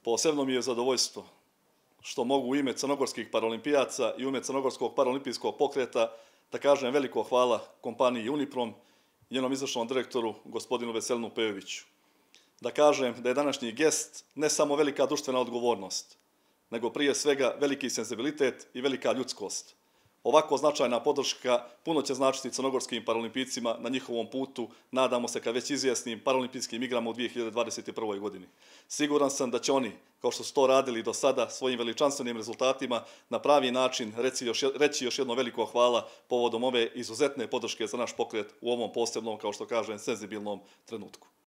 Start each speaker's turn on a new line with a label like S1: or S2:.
S1: Posebno mi je zadovoljstvo što mogu u ime crnogorskih paralimpijaca i u ime Crnogorskog paralimpijskog pokreta da kažem veliko hvala kompaniji Uniprom i njenom izvršnom direktoru gospodinu Veselinu Pejoviću. Da kažem da je današnji gest ne samo velika društvena odgovornost, nego prije svega veliki senzibilitet i velika ljudskost. Ovako značajna podrška puno će značiti crnogorskim paralimpijcima na njihovom putu, nadamo se ka već izvjesnim paralimpijskim igrama u 2021. godini. Siguran sam da će oni, kao što su to radili do sada, svojim veličanstvenim rezultatima na pravi način reći još jedno veliko hvala povodom ove izuzetne podrške za naš pokret u ovom posebnom, kao što kažem, senzibilnom trenutku.